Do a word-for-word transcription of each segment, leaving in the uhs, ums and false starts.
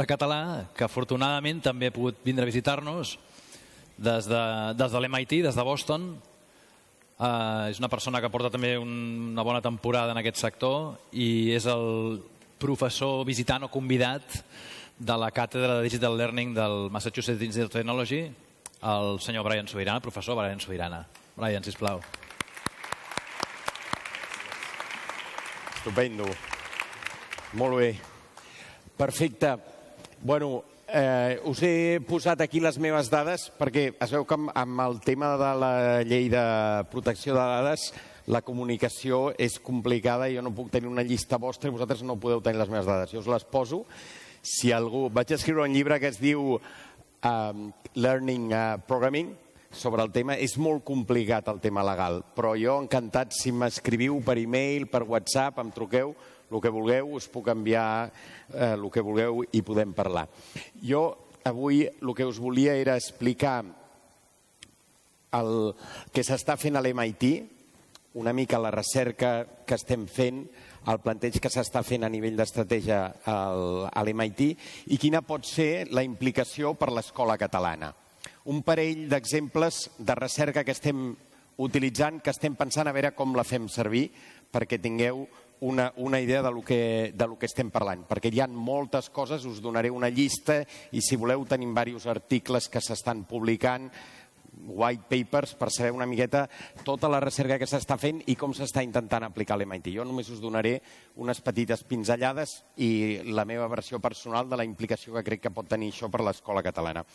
de català, que afortunadament també ha pogut vindre a visitar-nos des de l'M I T, des de Boston. És una persona que porta també una bona temporada en aquest sector i és el professor visitant o convidat de la càtedra de Digital Learning del Massachusetts Institute of Technology, el senyor Brian Subirana, professor Brian Subirana. Brian, sisplau. Estupendo. Molt bé. Perfecte. Bueno, eh, us he posat aquí les meves dades perquè es veu que amb, amb el tema de la llei de protecció de dades la comunicació és complicada i jo no puc tenir una llista vostra i vosaltres no podeu tenir les meves dades. Jo us les poso. Si algú... Vaig escriure un llibre que es diu um, Learning uh, Programming sobre el tema. És molt complicat el tema legal, però jo encantat si m'escriviu per e-mail, per WhatsApp, em truqueu, el que vulgueu, us puc enviar eh, el que vulgueu i podem parlar. Jo avui el que us volia era explicar el que s'està fent a l'M I T, una mica la recerca que estem fent, el planteig que s'està fent a nivell d'estratègia a l'M I T i quina pot ser la implicació per l'escola catalana. Un parell d'exemples de recerca que estem utilitzant, que estem pensant a veure com la fem servir perquè tingueu una, una idea de lo, que, de lo que estem parlant. Perquè hi ha moltes coses, us donaré una llista i si voleu tenim diversos articles que s'estan publicant, white papers, per saber una miqueta tota la recerca que s'està fent i com s'està intentant aplicar a l'M I T. Jo només us donaré unes petites pinzellades i la meva versió personal de la implicació que crec que pot tenir això per l'escola catalana.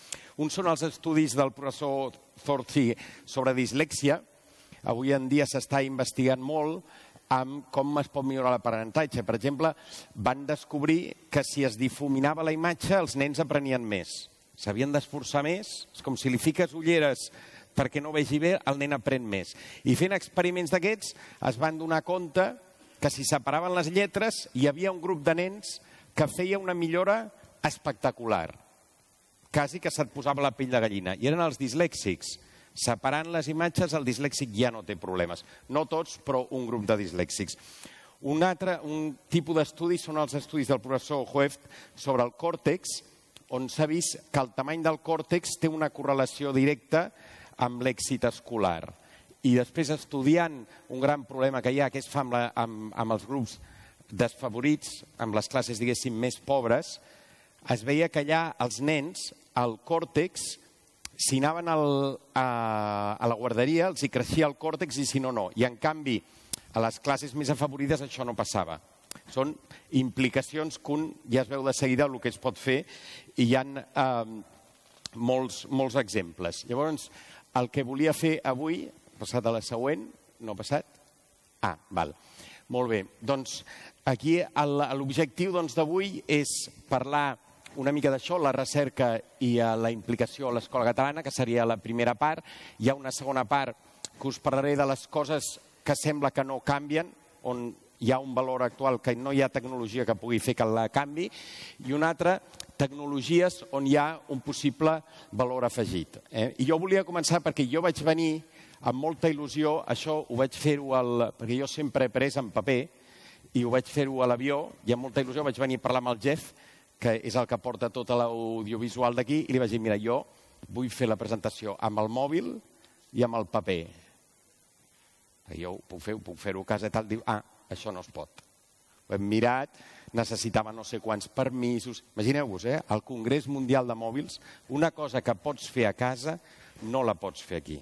Uns són els estudis del professor Zorzi sobre dislèxia. Avui en dia s'està investigant molt amb com es pot millorar l'aprenentatge. Per exemple, van descobrir que si es difuminava la imatge els nens aprenien més. S'havien d'esforçar més, és com si li fiques ulleres perquè no vegi bé, el nen aprèn més. I fent experiments d'aquests es van donar compte que si separaven les lletres hi havia un grup de nens que feia una millora espectacular. Quasi que se't posava la pell de gallina. I eren els dislèxics. Separant les imatges, el dislèxic ja no té problemes. No tots, però un grup de dislèxics. Un altre un tipus d'estudis són els estudis del professor Hoeft sobre el còrtex, on s'ha vist que el tamany del còrtex té una correlació directa amb l'èxit escolar. I després, estudiant un gran problema que hi ha, que es fa amb, la, amb, amb els grups desfavorits, amb les classes, diguéssim, més pobres, es veia que allà els nens, el còrtex, si anaven al, a, a la guarderia, els hi creixia el còrtex i si no, no. I en canvi, a les classes més afavorides això no passava. Són implicacions que un ja es veu de seguida el que es pot fer i hi ha eh, molts, molts exemples. Llavors, el que volia fer avui, passat a la següent, no ha passat? Ah, val. Molt bé. Doncs aquí l'objectiu d'avui és parlar una mica d'això, la recerca i la implicació a l'escola catalana, que seria la primera part. Hi ha una segona part que us parlaré de les coses que sembla que no canvien, on hi ha un valor actual que no hi ha tecnologia que pugui fer que la canvi, i una altra, tecnologies on hi ha un possible valor afegit. Eh? I jo volia començar perquè jo vaig venir amb molta il·lusió, això ho vaig fer-ho, perquè jo sempre he pres en paper, i ho vaig fer-ho a l'avió, i amb molta il·lusió vaig venir a parlar amb el Jeff, que és el que porta tot l'audiovisual d'aquí, i li vaig dir, mira, jo vull fer la presentació amb el mòbil i amb el paper. Jo ho puc fer, ho puc fer-ho a casa i tal, diu, ah, això no es pot. Ho hem mirat, necessitava no sé quants permisos. Imagineu-vos, eh? Al Congrés Mundial de Mòbils, una cosa que pots fer a casa no la pots fer aquí.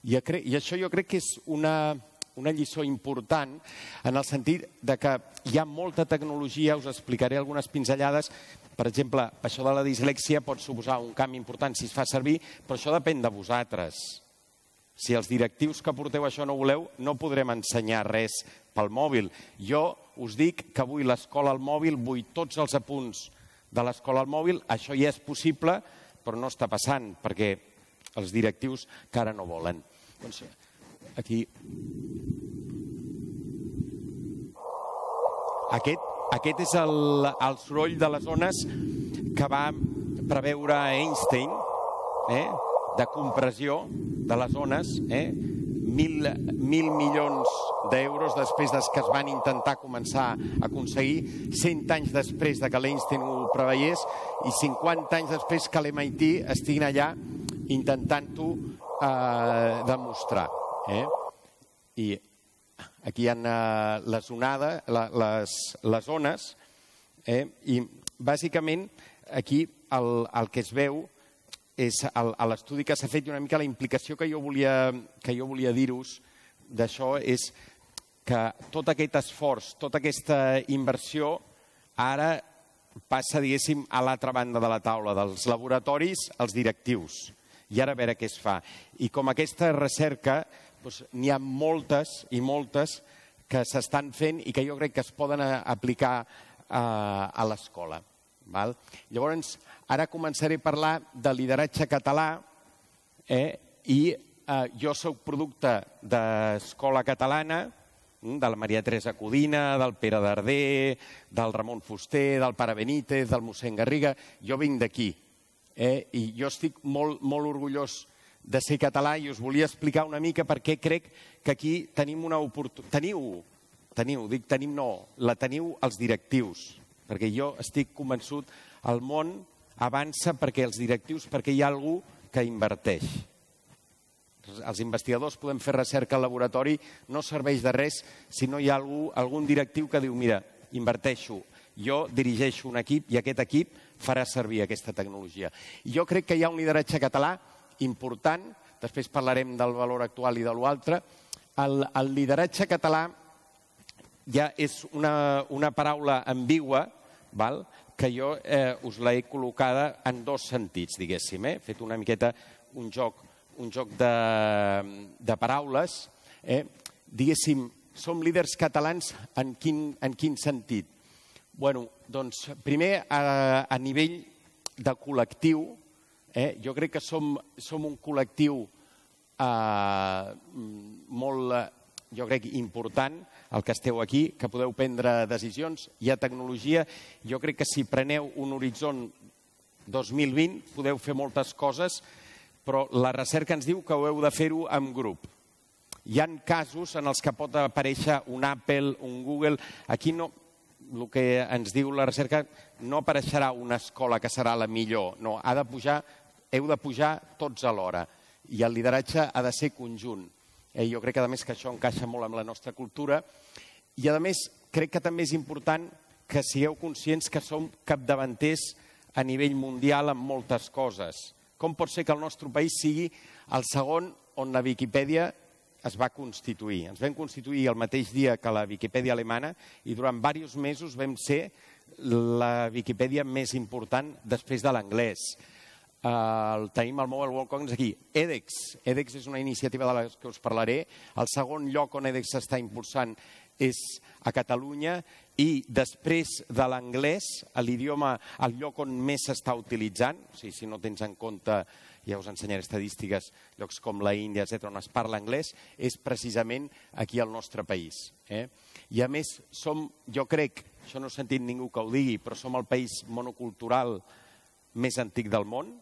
I, I això jo crec que és una, una lliçó important en el sentit de que hi ha molta tecnologia, us explicaré algunes pinzellades. Per exemple, això de la dislèxia pot suposar un canvi important si es fa servir, però això depèn de vosaltres. Si els directius que porteu això no voleu, no podrem ensenyar res pel mòbil. Jo us dic que vull l'escola al mòbil, vull tots els apunts de l'escola al mòbil. Això ja és possible, però no està passant, perquè els directius que ara no volen. Doncs aquí... Aquest, aquest és el, el soroll de les ones que va preveure Einstein, eh? de compressió de les ones, eh? mil, mil milions d'euros després des que es van intentar començar a aconseguir, cent anys després de que l'Einstein ho preveiés i cinquanta anys després que l'M I T estiguin allà intentant-ho eh, demostrar. Eh? I aquí hi ha eh, les onades, la, les, les ones, eh? I bàsicament aquí el, el que es veu és el, a l'estudi que s'ha fet i una mica la implicació que jo volia, que jo volia dir-vos d'això és que tot aquest esforç, tota aquesta inversió ara passa, diguéssim, a l'altra banda de la taula, dels laboratoris als directius. I ara a veure què es fa. I com aquesta recerca, doncs, n'hi ha moltes i moltes que s'estan fent i que jo crec que es poden aplicar a, a l'escola. Val? Llavors, ara començaré a parlar de lideratge català eh? i eh, jo soc producte d'Escola Catalana, de la Maria Teresa Codina, del Pere Darder, del Ramon Fuster, del Pare Benítez, del mossèn Garriga. Jo vinc d'aquí eh? I jo estic molt, molt orgullós de ser català i us volia explicar una mica per què crec que aquí tenim una oportunitat. Teniu, teniu, dic tenim no, la teniu els directius. Perquè jo estic convençut, el món avança perquè els directius, perquè hi ha algú que inverteix. Els investigadors podem fer recerca al laboratori, no serveix de res si no hi ha algú, algun directiu que diu, mira, inverteixo, jo dirigeixo un equip i aquest equip farà servir aquesta tecnologia. I jo crec que hi ha un lideratge català important, després parlarem del valor actual i de l'altre. El, el lideratge català ja és una, una paraula ambigua, val? Que jo eh, us l'he col·locada en dos sentits, diguéssim. Eh? He fet una miqueta un joc, un joc de, de paraules. Eh? Diguéssim, som líders catalans en quin, en quin sentit? Bueno, doncs, primer, a, a nivell de col·lectiu, eh? Jo crec que som, som un col·lectiu eh, molt, jo crec, important, el que esteu aquí, que podeu prendre decisions. Hi ha tecnologia. Jo crec que si preneu un horitzó dos mil vint podeu fer moltes coses, però la recerca ens diu que ho heu de fer-ho en grup. Hi ha casos en els que pot aparèixer un Apple, un Google. Aquí no, el que ens diu la recerca, no apareixerà una escola que serà la millor. No, ha de pujar, heu de pujar tots alhora. I el lideratge ha de ser conjunt. Eh, jo crec que, a més, que això encaixa molt amb la nostra cultura. I, a més, crec que també és important que sigueu conscients que som capdavanters a nivell mundial en moltes coses. Com pot ser que el nostre país sigui el segon on la Viquipèdia es va constituir? Ens vam constituir el mateix dia que la Viquipèdia alemana i durant diversos mesos vam ser la Viquipèdia més important després de l'anglès. Uh, tenim el Mobile World Congress aquí. edX. edX és una iniciativa de la que us parlaré. El segon lloc on edX s'està impulsant és a Catalunya i després de l'anglès, l'idioma, el lloc on més s'està utilitzant, o sigui, si no tens en compte, ja us ensenyaré estadístiques, llocs com la Índia, etcètera, on es parla anglès, és precisament aquí al nostre país. Eh? I a més, som, jo crec, això no he sentit ningú que ho digui, però som el país monocultural més antic del món,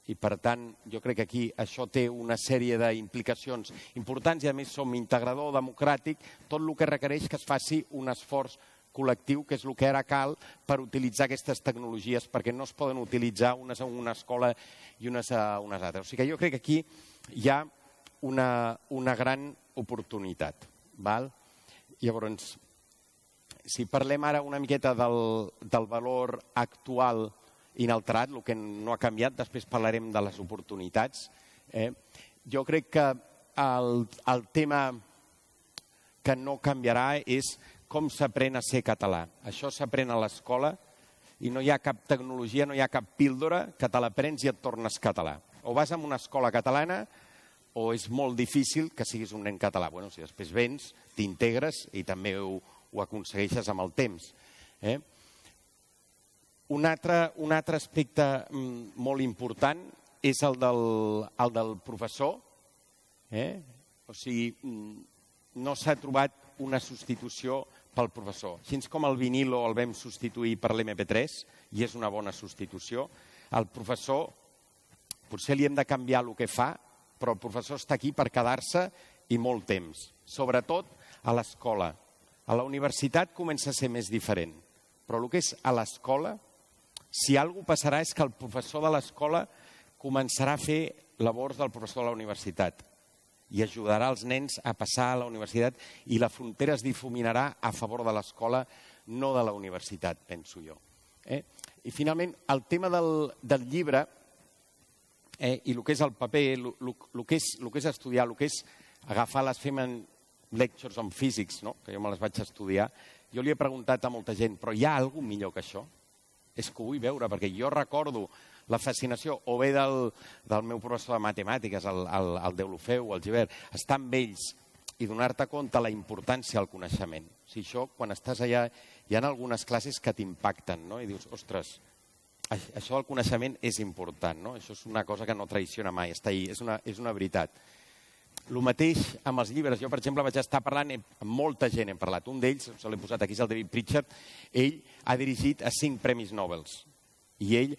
i per tant jo crec que aquí això té una sèrie d'implicacions importants i a més som integrador democràtic, tot el que requereix que es faci un esforç col·lectiu, que és el que ara cal per utilitzar aquestes tecnologies, perquè no es poden utilitzar unes a una escola i unes a unes altres. O sigui que jo crec que aquí hi ha una, una gran oportunitat. Val? Llavors, si parlem ara una miqueta del, del valor actual inalterat, el que no ha canviat, després parlarem de les oportunitats. Eh? Jo crec que el, el tema que no canviarà és com s'aprèn a ser català. Això s'aprèn a l'escola i no hi ha cap tecnologia, no hi ha cap píldora que te l'aprens i et tornes català. O vas a una escola catalana o és molt difícil que siguis un nen català. Bueno, si després vens, t'integres i també ho, ho aconsegueixes amb el temps. Eh? Un altre, un altre aspecte molt important és el del, el del professor. Eh? O sigui, no s'ha trobat una substitució pel professor. Així com el vinilo el vam substituir per l'M P tres, i és una bona substitució, el professor potser li hem de canviar el que fa, però el professor està aquí per quedar-se i molt temps, sobretot a l'escola. A la universitat comença a ser més diferent, però el que és a l'escola, si alguna cosa passarà és que el professor de l'escola començarà a fer labors del professor de la universitat i ajudarà els nens a passar a la universitat i la frontera es difuminarà a favor de l'escola, no de la universitat, penso jo. Eh? I finalment, el tema del, del llibre eh, i el que és el paper, el que és, el que és estudiar, el que és agafar les Feynman Lectures on Physics, no? Que jo me les vaig estudiar, jo li he preguntat a molta gent, però hi ha alguna cosa millor que això? És que ho vull veure, perquè jo recordo la fascinació, o bé del, del meu professor de matemàtiques, el, el, el Deulofeu, el Givert, estar amb ells i donar-te compte la importància del coneixement. O sigui, això, quan estàs allà, hi ha algunes classes que t'impacten, no? I dius, ostres, això del coneixement és important, no? Això és una cosa que no traiciona mai, està ahí, és una, és una veritat. El mateix amb els llibres. Jo, per exemple, vaig estar parlant amb molta gent, hem parlat. Un d'ells, se l'he posat aquí, és el David Pritchard, ell ha dirigit a cinc premis Nobel. I ell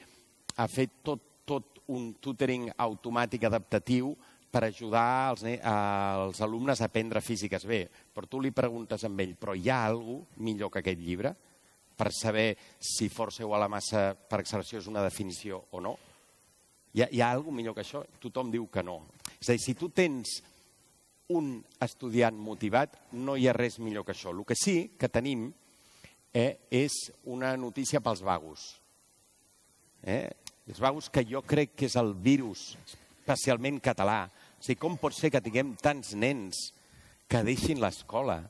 ha fet tot, tot un tutoring automàtic adaptatiu per ajudar els, els alumnes a aprendre físiques. Bé, però tu li preguntes a ell, però hi ha alguna cosa millor que aquest llibre per saber si força igual a massa per acceleració és una definició o no? Hi ha, hi ha alguna cosa millor que això? Tothom diu que no. És a dir, si tu tens un estudiant motivat, no hi ha res millor que això. El que sí que tenim eh, és una notícia pels vagos. Eh? Els vagos que jo crec que és el virus, especialment català. O sigui, com pot ser que tinguem tants nens que deixin l'escola,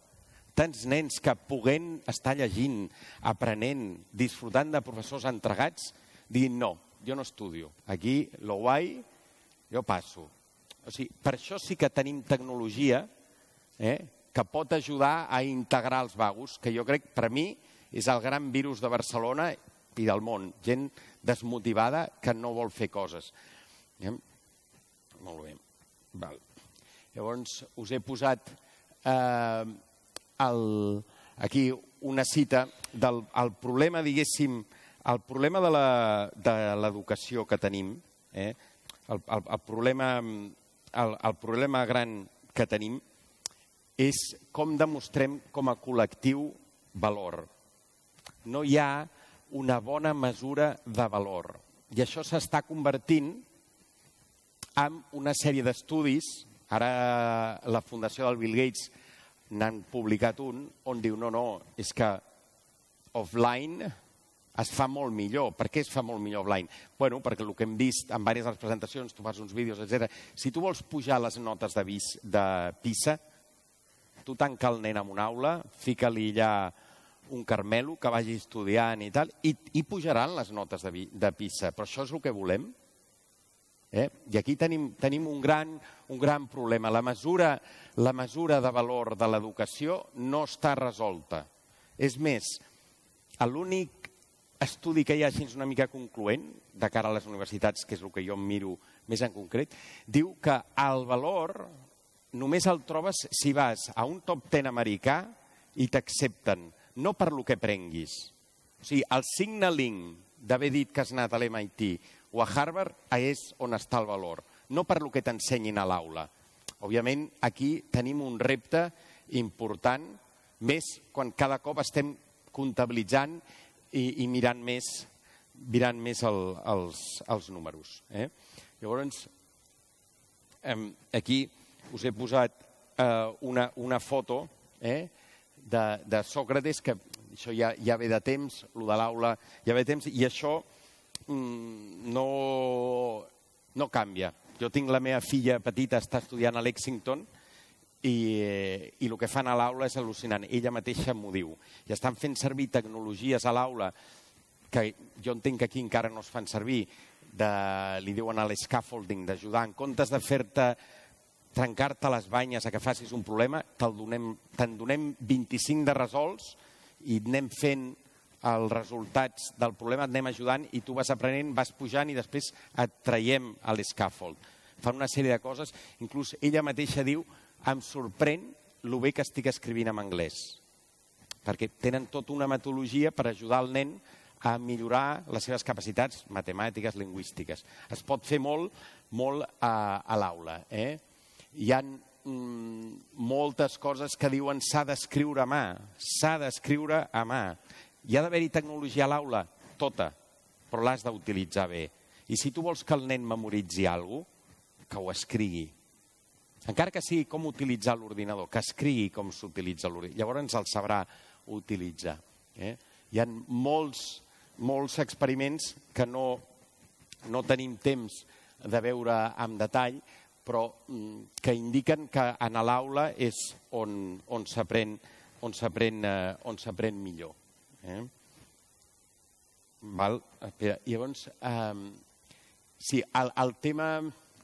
tants nens que puguent estar llegint, aprenent, disfrutant de professors entregats, diguin no, jo no estudio. Aquí, lo guai, jo passo. O sigui, per això sí que tenim tecnologia eh, que pot ajudar a integrar els vagos, que jo crec, per mi, és el gran virus de Barcelona i del món. Gent desmotivada que no vol fer coses. Eh? Molt bé. Val. Llavors, us he posat eh, el, aquí una cita del el problema, diguéssim, el problema de l'educació que tenim, eh, el, el, el problema... El, el problema gran que tenim és com demostrem com a col·lectiu valor. No hi ha una bona mesura de valor. I això s'està convertint en una sèrie d'estudis. Ara la Fundació del Bill Gates n'han publicat un on diu no, no, és que offline es fa molt millor. Per què es fa molt millor offline? Bueno, perquè el que hem vist en diverses de les presentacions, tu fas uns vídeos, etcètera. Si tu vols pujar les notes de, vis, de PISA, tu tanca el nen en una aula, fica-li allà un carmelo que vagi estudiant i tal, i, i pujaran les notes de, de PISA. Però això és el que volem? Eh? I aquí tenim, tenim un, gran, un gran problema. La mesura, la mesura de valor de l'educació no està resolta. És més, l'únic estudi que hi ha així una mica concloent de cara a les universitats, que és el que jo em miro més en concret, diu que el valor només el trobes si vas a un top ten americà i t'accepten, no per lo que prenguis. O sigui, el signaling d'haver dit que has anat a l'M I T o a Harvard és on està el valor, no per lo que t'ensenyin a l'aula. Òbviament, aquí tenim un repte important, més quan cada cop estem comptabilitzant I, i mirant més, mirant més el, els, els números. Eh? Llavors, eh, aquí us he posat eh, una, una foto eh, de, de Sòcrates, que això ja, ja ve de temps, el de l'aula ja ve de temps, i això mm, no, no canvia. Jo tinc la meva filla petita, està estudiant a Lexington, i, i el que fan a l'aula és al·lucinant. Ella mateixa m'ho diu. I estan fent servir tecnologies a l'aula que jo entenc que aquí encara no es fan servir, de, li diuen a l'escaffolding, d'ajudar. En comptes de fer-te trencar-te les banyes a que facis un problema, te'n donem, te donem vint-i-cinc de resolts i anem fent els resultats del problema, et anem ajudant i tu vas aprenent, vas pujant i després et traiem a l'escaffold. Fan una sèrie de coses. Inclús ella mateixa diu em sorprèn el bé que estic escrivint en anglès, perquè tenen tota una metodologia per ajudar el nen a millorar les seves capacitats matemàtiques, lingüístiques. Es pot fer molt, molt a, a l'aula. Eh? Hi ha moltes coses que diuen s'ha d'escriure a mà, s'ha d'escriure a mà. Hi ha d'haver-hi tecnologia a l'aula, tota, però l'has d'utilitzar bé. I si tu vols que el nen memoritzi alguna cosa, que ho escrigui. Encara que sigui com utilitzar l'ordinador, que escrigui com s'utilitza l'ordinador. Llavors el sabrà utilitzar. Hi ha molts, molts experiments que no, no tenim temps de veure en detall, però que indiquen que a l'aula és on, on s'aprèn on s'aprèn eh, on s'aprèn millor. Eh? Val? Espera, llavors, eh, sí, el, el tema...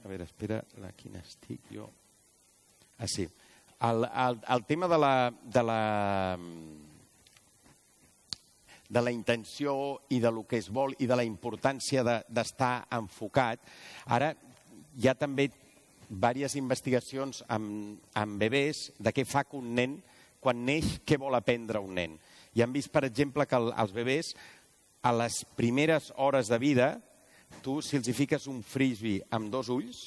A veure, espera, a quina estic jo? Ah, sí. El, el, el tema de la, de la, de la intenció i de lo que es vol i de la importància d'estar de, enfocat, ara hi ha també diverses investigacions amb, amb bebès de què fa que un nen, quan neix, què vol aprendre un nen. I han vist, per exemple, que el, els bebès, a les primeres hores de vida, tu, si els hi fiques un frisbee amb dos ulls,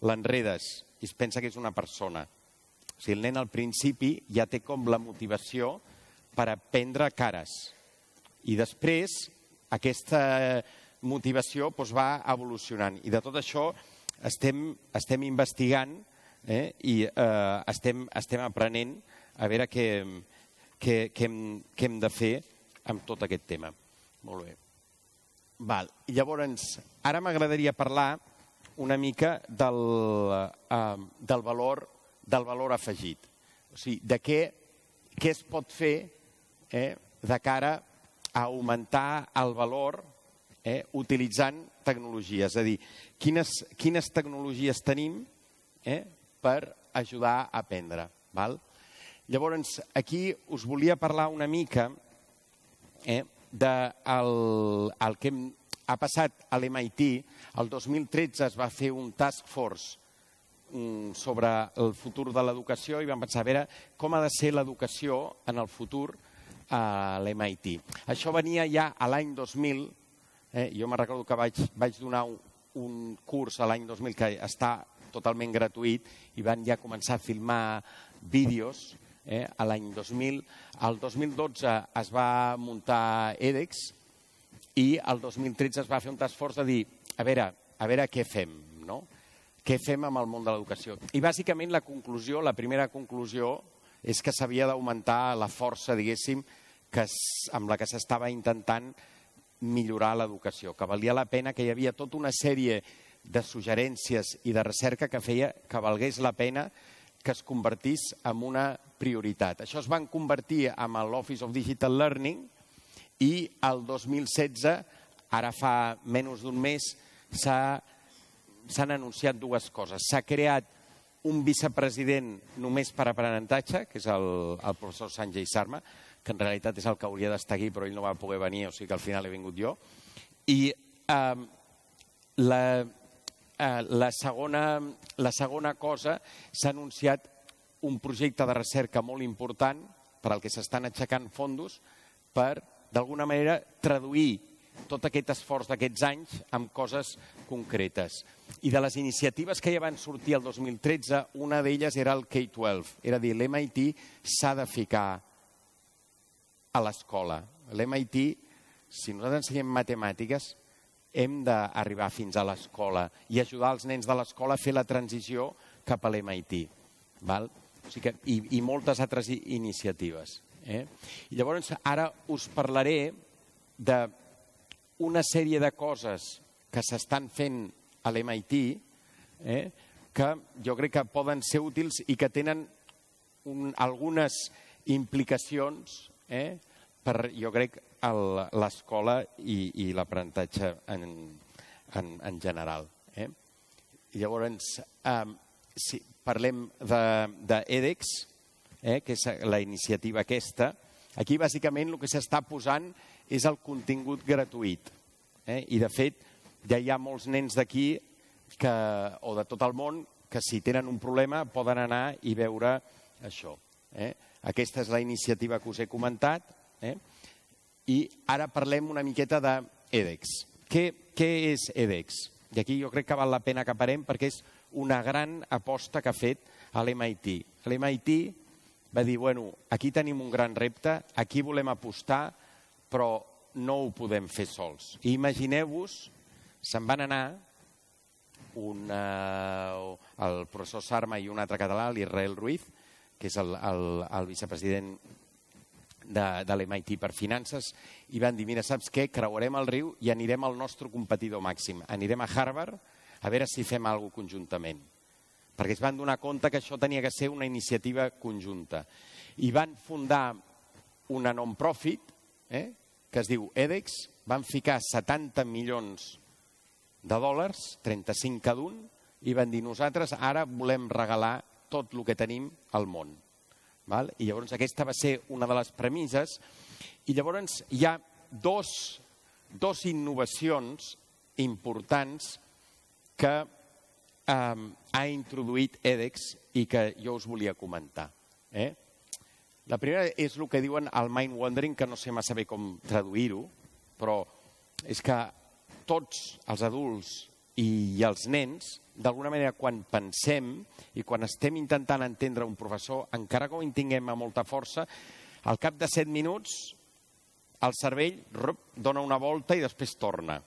l'enredes i es pensa que és una persona. O sigui, el nen al principi ja té com la motivació per aprendre cares. I després aquesta motivació doncs, va evolucionant. I de tot això estem, estem investigant eh, i eh, estem, estem aprenent a veure què, què, què, hem, què hem de fer amb tot aquest tema. Molt bé. Val. Llavors, ara m'agradaria parlar una mica del, eh, del, valor, del valor afegit. O sigui, de què, què es pot fer eh, de cara a augmentar el valor eh, utilitzant tecnologies. És a dir, quines, quines tecnologies tenim eh, per ajudar a aprendre. Val? Llavors, aquí us volia parlar una mica eh, del el que ha passat a l'M I T. El dos mil tretze es va fer un task force um, sobre el futur de l'educació i vam pensar a veure com ha de ser l'educació en el futur a l'M I T. Això venia ja a l'any dos mil. Eh, jo me recordo que vaig, vaig donar un, un curs a l'any dos mil que està totalment gratuït i van ja començar a filmar vídeos eh, a l'any dos mil. El dos mil dotze es va muntar edX i el dos mil tretze es va fer un task force de dir a veure, a veure què fem, no? Què fem amb el món de l'educació. I bàsicament la conclusió, la primera conclusió, és que s'havia d'augmentar la força, diguéssim, que, amb la que s'estava intentant millorar l'educació, que valia la pena, que hi havia tota una sèrie de suggerències i de recerca que feia que valgués la pena que es convertís en una prioritat. Això es van convertir en l'Office of Digital Learning i el dos mil setze, ara fa menys d'un mes, s'han anunciat dues coses. S'ha creat un vicepresident només per aprenentatge, que és el, el professor Sanjay Sharma, que en realitat és el que hauria d'estar aquí, però ell no va poder venir, o sigui que al final he vingut jo. I eh, la, eh, la, segona, la segona cosa, s'ha anunciat un projecte de recerca molt important per al que s'estan aixecant fondos per, d'alguna manera, traduir tot aquest esforç d'aquests anys amb coses concretes. I de les iniciatives que ja van sortir el dos mil tretze, una d'elles era el K dotze. Era dir, l'M I T s'ha de ficar a l'escola. L'M I T, si nosaltres ensenyem matemàtiques, hem d'arribar fins a l'escola i ajudar els nens de l'escola a fer la transició cap a l'M I T. Val? O sigui que, i, i moltes altres iniciatives. Eh? I llavors ara us parlaré d'una sèrie de coses que s'estan fent a l'M I T eh, que jo crec que poden ser útils i que tenen un, algunes implicacions eh, per, jo crec, l'escola i, i l'aprenentatge en, en, en general. Eh? I llavors, eh, si parlem d'EDX, eh, que és la iniciativa aquesta, aquí bàsicament el que s'està posant és el contingut gratuït. Eh? I de fet, ja hi ha molts nens d'aquí o de tot el món que si tenen un problema poden anar i veure això. Eh? Aquesta és la iniciativa que us he comentat. Eh? I ara parlem una miqueta d'EDX. Què, què és EDX? I aquí jo crec que val la pena que parem perquè és una gran aposta que ha fet a l'M I T. L'M I T va dir, bueno, aquí tenim un gran repte, aquí volem apostar, però no ho podem fer sols. I imagineu-vos, se'n van anar un, uh, el professor Sarma i un altre català, l'Israel Ruiz, que és el, el, el vicepresident de, de l'M I T per Finances, i van dir, mira, saps què? Creuarem el riu i anirem al nostre competidor màxim. Anirem a Harvard a veure si fem alguna cosa conjuntament. Perquè es van donar compte que això tenia que ser una iniciativa conjunta. I van fundar una non-profit, eh, que es diu edX, van ficar setanta milions de dòlars, trenta-cinc cada un, i van dir, nosaltres ara volem regalar tot el que tenim al món. Val? I llavors aquesta va ser una de les premisses. I llavors hi ha dos, dos innovacions importants que eh, ha introduït edX i que jo us volia comentar. Eh? La primera és el que diuen el mind wandering, que no sé massa bé com traduir-ho, però és que tots els adults i els nens, d'alguna manera, quan pensem i quan estem intentant entendre un professor, encara que ho tinguem a molta força, al cap de set minuts el cervell rup, dona una volta i després torna.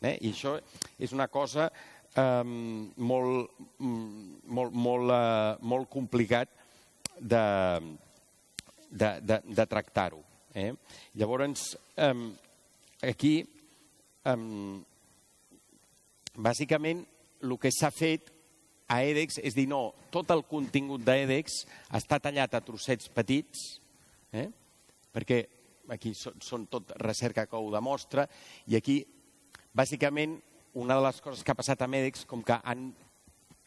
Eh? I això és una cosa eh, molt, molt, molt, eh, molt complicat de, de, de, de tractar-ho. Eh? Llavors, eh, aquí, eh, bàsicament, el que s'ha fet a edX és dir, no, tot el contingut d'edX està tallat a trossets petits, eh? perquè aquí són, són tot recerca que ho demostra, i aquí, bàsicament, una de les coses que ha passat amb edX, com que han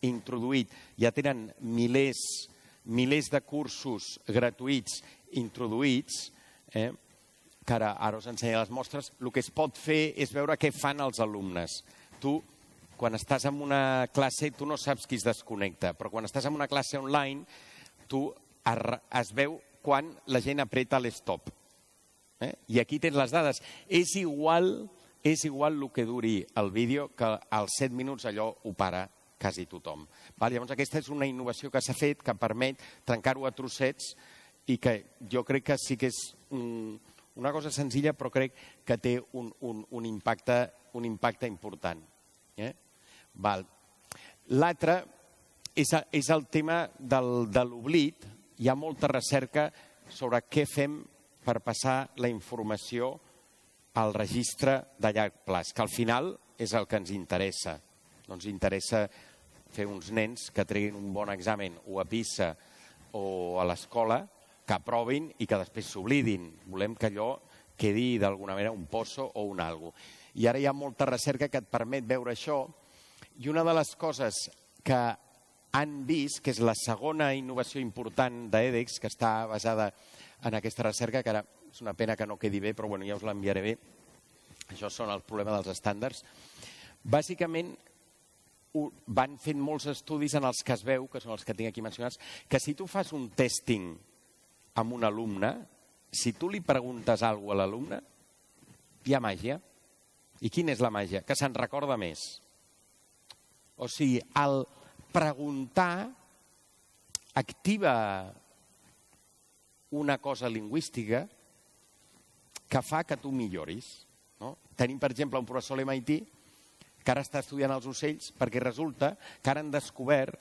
introduït, ja tenen milers, milers de cursos gratuïts introduïts, eh? que ara, ara us ensenyo les mostres, el que es pot fer és veure què fan els alumnes. Tu, quan estàs en una classe, tu no saps qui es desconnecta, però quan estàs en una classe online, tu es veu quan la gent apreta l'stop. Eh? I aquí tens les dades. És igual, és igual el que duri el vídeo, que als set minuts allò ho para quasi tothom. Val? Llavors aquesta és una innovació que s'ha fet, que permet trencar-ho a trossets i que jo crec que sí que és un, una cosa senzilla, però crec que té un, un, un, impacte, un impacte important. Eh? L'altre és, és el tema del, de l'oblit. Hi ha molta recerca sobre què fem per passar la informació al registre de llarg plaç, que al final és el que ens interessa. No ens interessa fer uns nens que treguin un bon examen o a PISA o a l'escola, que aprovin i que després s'oblidin. Volem que allò quedi d'alguna manera un poso o un algo. I ara hi ha molta recerca que et permet veure això. I una de les coses que han vist, que és la segona innovació important d'edX, que està basada en aquesta recerca, que ara és una pena que no quedi bé, però bueno, ja us l'enviaré bé. Això són el problema dels estàndards. Bàsicament, van fent molts estudis en els que es veu, que són els que tinc aquí mencionats, que si tu fas un testing amb un alumne, si tu li preguntes alguna cosa a l'alumne, hi ha màgia. I quina és la màgia? Que se'n recorda més. O sigui, el preguntar activa una cosa lingüística que fa que tu milloris. No? Tenim, per exemple, un professor a l'M I T que ara està estudiant els ocells perquè resulta que ara han descobert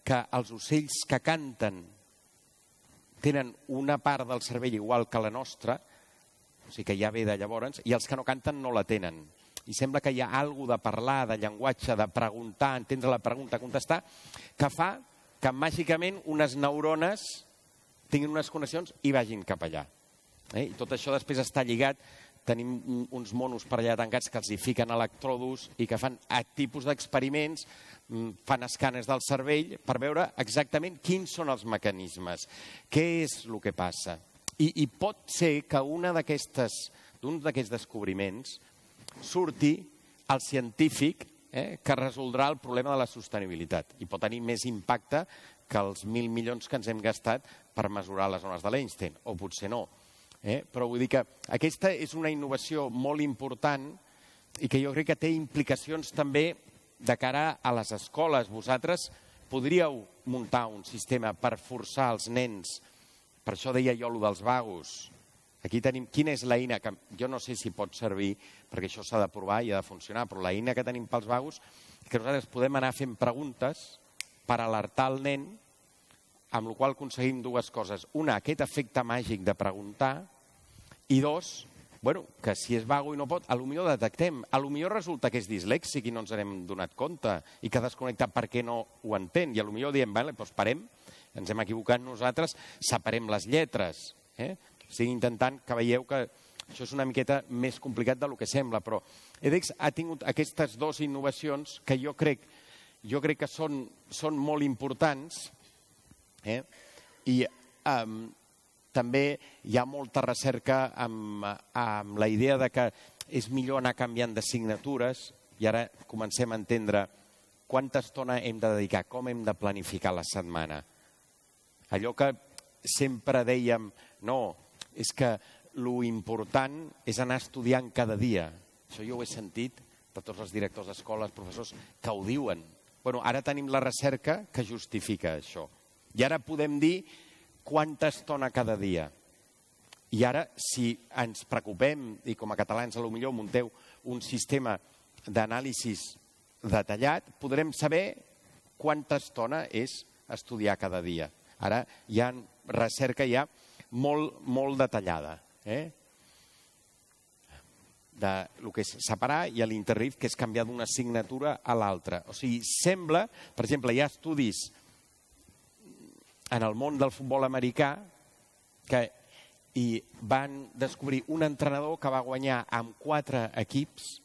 que els ocells que canten tenen una part del cervell igual que la nostra, o sigui que ja ve de llavors, i els que no canten no la tenen. I sembla que hi ha alguna de parlar, de llenguatge, de preguntar, entendre la pregunta, contestar, que fa que màgicament unes neurones tinguin unes connexions i vagin cap allà. Eh? I tot això després està lligat. Tenim uns monos per allà tancats que els hi fiquen electrodos i que fan tipus d'experiments, fan escàners del cervell per veure exactament quins són els mecanismes, què és el que passa. I, i pot ser que una d'aquestes, d'un d'aquests descobriments surti el científic eh, que resoldrà el problema de la sostenibilitat i pot tenir més impacte que els mil milions que ens hem gastat per mesurar les ones de l'Einstein, o potser no. Eh? Però vull dir que aquesta és una innovació molt important i que jo crec que té implicacions també de cara a les escoles, vosaltres podríeu muntar un sistema per forçar els nens, per això deia jo allò dels vagos. Aquí tenim, quina és l'eina, que jo no sé si pot servir, perquè això s'ha de provar i ha de funcionar, però l'eina que tenim pels vagos és que nosaltres podem anar fent preguntes per alertar el nen, amb la qual cosa aconseguim dues coses. Una, aquest efecte màgic de preguntar, i dos, bueno, que si és vago i no pot, a lo millor detectem, a lo millor resulta que és dislèxic i no ens n'hem donat compte i que ha desconnectat perquè no ho entén, i a lo millor diem, vale, doncs parem, ens hem equivocat nosaltres, separem les lletres. Eh? O sigui, intentant que veieu que això és una miqueta més complicat del que sembla, però edX ha tingut aquestes dues innovacions que jo crec, jo crec que són, són molt importants, eh? i um, també hi ha molta recerca amb, amb la idea de que és millor anar canviant d'assignatures i ara comencem a entendre quanta estona hem de dedicar, com hem de planificar la setmana. Allò que sempre dèiem, no, és que lo important és anar estudiant cada dia. Això jo ho he sentit de tots els directors d'escoles, professors, que ho diuen. Bueno, ara tenim la recerca que justifica això. I ara podem dir quanta estona cada dia. I ara, si ens preocupem, i com a catalans a lo millor munteu un sistema d'anàlisi detallat, podrem saber quanta estona és estudiar cada dia. Ara hi ha recerca ja molt, molt detallada. Eh? De lo que és separar i a l'interrif, que és canviar d'una assignatura a l'altra. O sigui, sembla, per exemple, hi ha estudis en el món del futbol americà que i van descobrir un entrenador que va guanyar amb quatre equips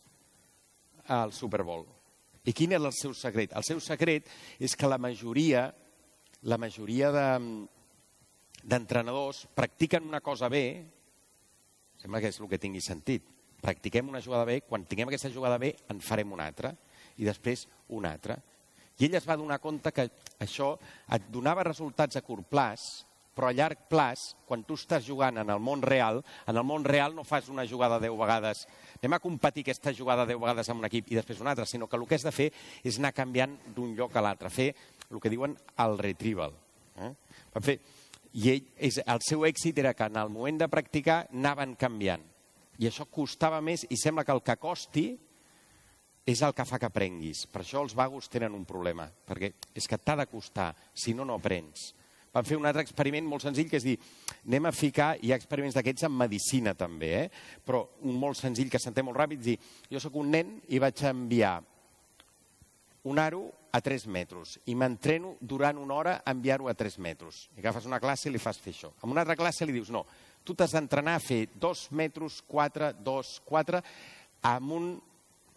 el Super Bowl. I quin és el seu secret? El seu secret és que la majoria, la majoria de, d'entrenadors practiquen una cosa bé, sembla que és el que tingui sentit, practiquem una jugada bé, quan tinguem aquesta jugada bé en farem una altra i després una altra. I ell es va donar compte que això et donava resultats a curt plaç, però a llarg plaç, quan tu estàs jugant en el món real, en el món real no fas una jugada deu vegades, anem a competir aquesta jugada deu vegades amb un equip i després una altra, sinó que el que has de fer és anar canviant d'un lloc a l'altre, fer el que diuen el retrieval. Eh? Van fer, i ell, és, el seu èxit era que en el moment de practicar anaven canviant. I això costava més i sembla que el que costi és el que fa que aprenguis. Per això els vagos tenen un problema, perquè és que t'ha de costar, si no, no aprens. Van fer un altre experiment molt senzill, que és dir, anem a ficar, hi ha experiments d'aquests en medicina també, eh? però un molt senzill que s'entén molt ràpid, dir, jo sóc un nen i vaig enviar un aro a tres metres i m'entreno durant una hora a enviar-ho a tres metres. I agafes una classe i li fas fer això. En una altra classe li dius, no, tu t'has d'entrenar a fer dos metres, quatre, dos, quatre, amb un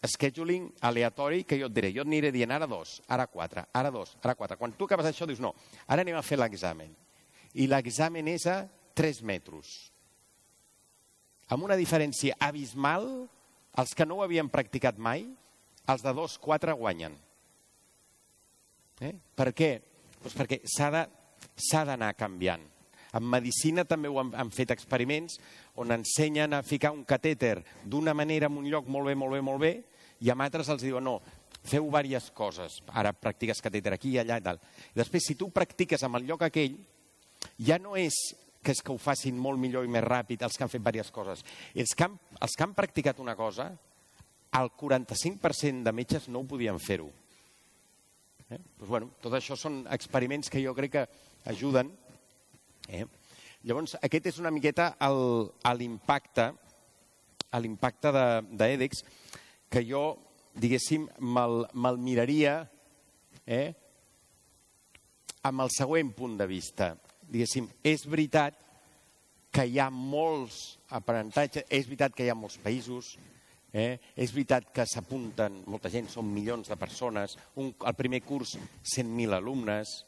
scheduling aleatori que jo et diré. Jo et aniré dient ara dos, ara quatre, ara dos, ara quatre. Quan tu acabes això dius no, ara anem a fer l'examen. I l'examen és a tres metres. Amb una diferència abismal, els que no ho havien practicat mai, els de dos, quatre guanyen. Eh? Per què? Doncs perquè s'ha d'anar canviant. En medicina també ho han, han fet experiments on ensenyen a ficar un catèter d'una manera en un lloc molt bé, molt bé, molt bé, i amb altres els diuen, no, feu diverses coses. Ara practiques catèter aquí i allà i tal. I després, si tu practiques en el lloc aquell, ja no és que és que ho facin molt millor i més ràpid els que han fet diverses coses. Els que han, els que han practicat una cosa, el quaranta-cinc per cent de metges no ho podien fer-ho. Eh? Doncs, bueno, tot això són experiments que jo crec que ajuden. Eh? Llavors, aquest és una miqueta l'impacte l'impacte d'EDX que jo, diguéssim, me'l me miraria eh, amb el següent punt de vista. Diguéssim, és veritat que hi ha molts aprenentatges, és veritat que hi ha molts països, eh, és veritat que s'apunten molta gent, són milions de persones, un, el primer curs cent mil alumnes.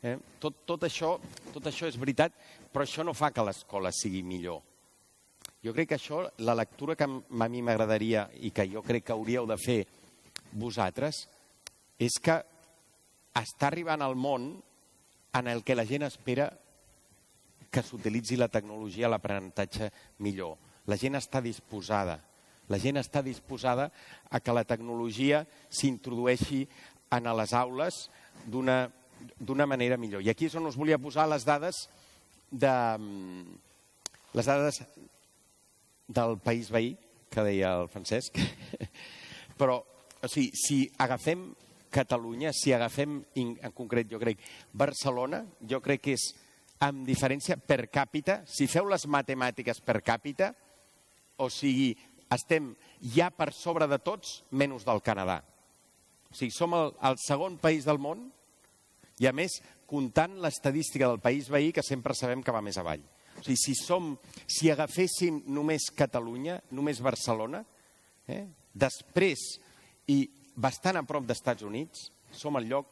Eh? Tot, tot, això, tot això és veritat, però això no fa que l'escola sigui millor. Jo crec que això, la lectura que a mi m'agradaria i que jo crec que hauríeu de fer vosaltres, és que està arribant al món en el que la gent espera que s'utilitzi la tecnologia a l'aprenentatge millor. La gent està disposada. La gent està disposada a que la tecnologia s'introdueixi en les aules d'una manera millor. I aquí és on us volia posar les dades de les dades del país veí, que deia el Francesc. Però, o sigui, si agafem Catalunya, si agafem, en concret, jo crec, Barcelona, jo crec que és, amb diferència per càpita, si feu les matemàtiques per càpita, o sigui, estem ja per sobre de tots, menys del Canadà. O sigui, som el, el segon país del món, i a més, comptant l'estadística del país veí, que sempre sabem que va més avall. O sigui, si, som, si agaféssim només Catalunya, només Barcelona, eh, després, i bastant a prop dels Estats Units, som el lloc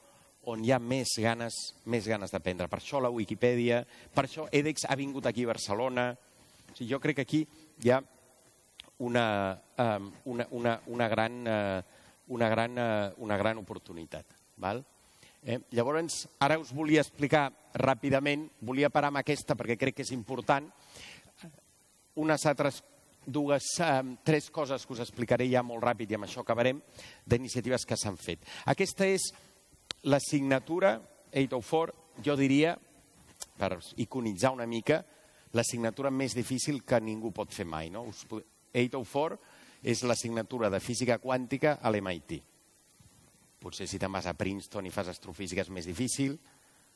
on hi ha més ganes, més ganes d'aprendre. Per això la Wikipedia, per això edX ha vingut aquí a Barcelona. O sigui, jo crec que aquí hi ha una, um, una, una, una, gran, uh, una, gran, uh, una gran oportunitat. Val? Eh? Llavors, ara us volia explicar ràpidament, volia parar amb aquesta perquè crec que és important, unes altres dues, um, tres coses que us explicaré ja molt ràpid i amb això acabarem, d'iniciatives que s'han fet. Aquesta és l'assignatura oito cents quatre, jo diria, per iconitzar una mica, l'assignatura més difícil que ningú pot fer mai. No? oito cents quatre és l'assignatura de física quàntica a l'M I T. Potser si te'n vas a Princeton i fas astrofísica és més difícil,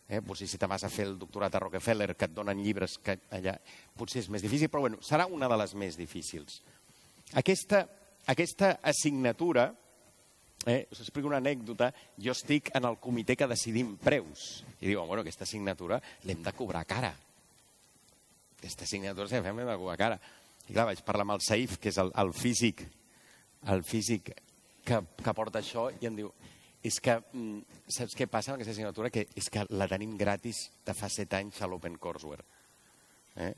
eh? potser si te'n vas a fer el doctorat a Rockefeller, que et donen llibres que allà, potser és més difícil, però bueno, serà una de les més difícils. Aquesta, aquesta assignatura, eh, us explico una anècdota, jo estic en el comitè que decidim preus, i diuen, bueno, aquesta assignatura l'hem de cobrar cara. Aquesta assignatura l'hem de cobrar cara. I clar, vaig parlar amb el Saif, que és el, el físic, el físic que, que porta això, i em diu, és que, saps què passa amb aquesta assignatura? Que és que la tenim gratis de fa set anys a l'OpenCourseWare. Eh?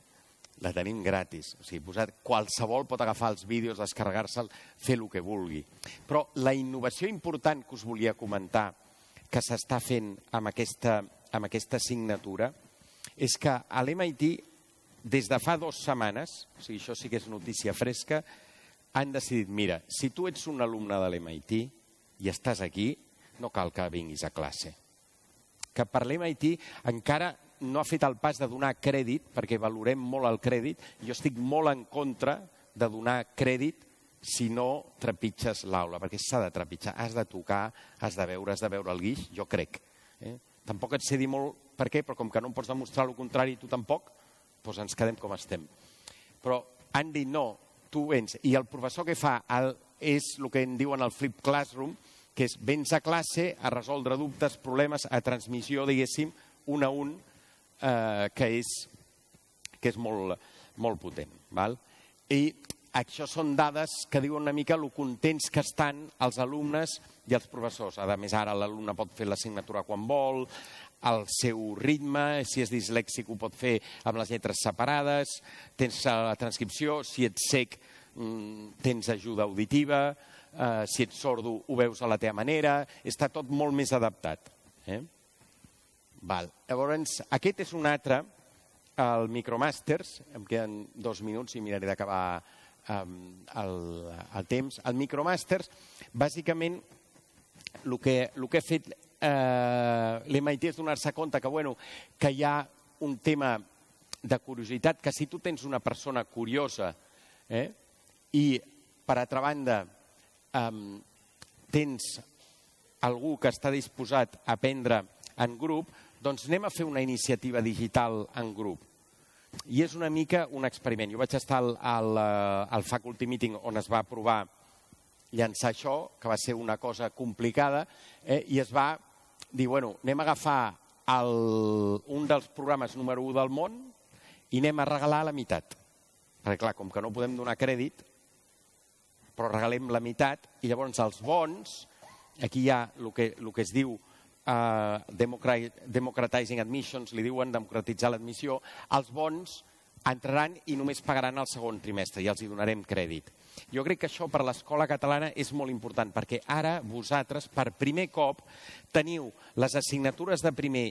La tenim gratis. O sigui, posat, qualsevol pot agafar els vídeos, descarregar-se'l, fer el que vulgui. Però la innovació important que us volia comentar que s'està fent amb aquesta, amb aquesta assignatura és que a l'M I T, des de fa dues setmanes, o sigui, això sí que és notícia fresca, han decidit, mira, si tu ets un alumne de l'M I T i estàs aquí, no cal que vinguis a classe. Que per l'M I T encara no ha fet el pas de donar crèdit, perquè valorem molt el crèdit. Jo estic molt en contra de donar crèdit si no trepitges l'aula, perquè s'ha de trepitjar, has de tocar, has de veure, has de veure el guix, jo crec. Eh? Tampoc et sé dir molt per què, però com que no em pots demostrar el contrari, tu tampoc, doncs ens quedem com estem. Però han dit no, tu vens, i el professor que fa el, és el que en diuen el flip classroom, que és vens a classe a resoldre dubtes, problemes, a transmissió, diguéssim, un a un, eh, que és, que és molt, molt potent. Val? I això són dades que diuen una mica el contents que estan els alumnes i els professors. A més, ara l'alumne pot fer l'assignatura quan vol, al seu ritme, si és dislèxic ho pot fer amb les lletres separades, tens la transcripció, si ets cec tens ajuda auditiva, Uh, si ets sordo ho veus a la teva manera, està tot molt més adaptat. Eh? Val. Llavors, aquest és un altre, el Micromasters, em queden dos minuts i miraré d'acabar um, el, el temps. El Micromasters, bàsicament, el que, el que ha fet uh, l'M I T és donar-se compte que, bueno, que hi ha un tema de curiositat, que si tu tens una persona curiosa eh, i, per altra banda, Um, tens algú que està disposat a aprendre en grup, doncs anem a fer una iniciativa digital en grup. I és una mica un experiment. Jo vaig estar al, al, al Faculty Meeting on es va provar llançar això, que va ser una cosa complicada, eh, i es va dir, bueno, anem a agafar el, un dels programes número u del món i anem a regalar la meitat. Perquè, clar, com que no podem donar crèdit, però regalem la meitat, i llavors els bons, aquí hi ha el que, el que es diu uh, democratizing admissions, li diuen democratitzar l'admissió, els bons entraran i només pagaran el segon trimestre i els hi donarem crèdit. Jo crec que això per l'escola catalana és molt important, perquè ara vosaltres, per primer cop, teniu les assignatures de primer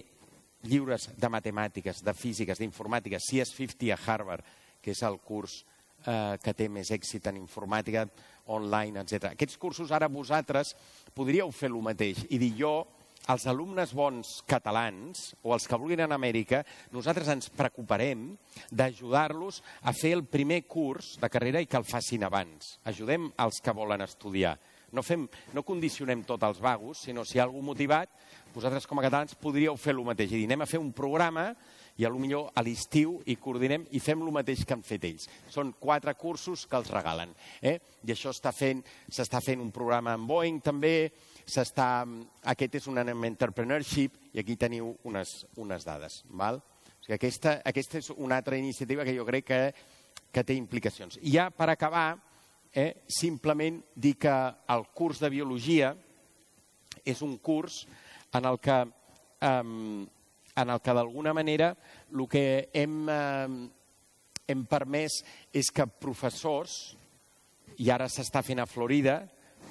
lliures de matemàtiques, de físiques, d'informàtica, C S cinquanta a Harvard, que és el curs que té més èxit en informàtica, online, etcètera. Aquests cursos ara vosaltres podríeu fer el mateix i dir jo, els alumnes bons catalans o els que vulguin anar a Amèrica, nosaltres ens preocuparem d'ajudar-los a fer el primer curs de carrera i que el facin abans. Ajudem els que volen estudiar. No, fem, no condicionem tot als vagos, sinó si hi ha algú motivat, vosaltres com a catalans podríeu fer el mateix. I dir, anem a fer un programa i potser a l'estiu hi coordinem i fem el mateix que han fet ells. Són quatre cursos que els regalen. Eh? I això s'està fent, s'està fent un programa amb Boeing també, s'està, aquest és un entrepreneurship i aquí teniu unes, unes dades. Val? O sigui, aquesta, aquesta és una altra iniciativa que jo crec que, que té implicacions. I ja per acabar, eh, simplement dir que el curs de biologia és un curs en el que, eh, en el que d'alguna manera el que hem, eh, hem permès és que professors, i ara s'està fent a Florida,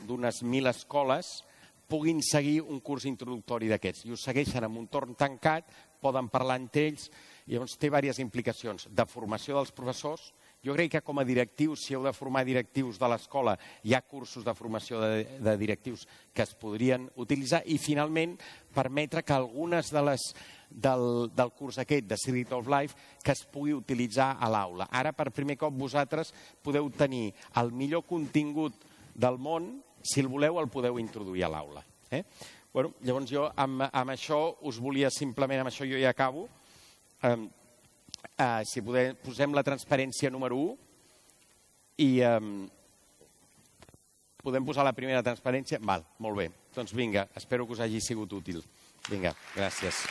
d'unes mil escoles, puguin seguir un curs introductori d'aquests. I ho segueixen en un torn tancat, poden parlar entre ells, i llavors té diverses implicacions de formació dels professors. Jo crec que com a directius, si heu de formar directius de l'escola, hi ha cursos de formació de, de directius que es podrien utilitzar i finalment permetre que algunes de les del, del curs aquest de Secret of Life que es pugui utilitzar a l'aula. Ara, per primer cop, vosaltres podeu tenir el millor contingut del món, si el voleu el podeu introduir a l'aula. Eh? Bueno, llavors jo amb, amb això us volia simplement, amb això jo ja acabo, eh, eh, si podem, posem la transparència número u i eh, podem posar la primera transparència? Val, molt bé. Doncs vinga, espero que us hagi sigut útil. Vinga, gràcies.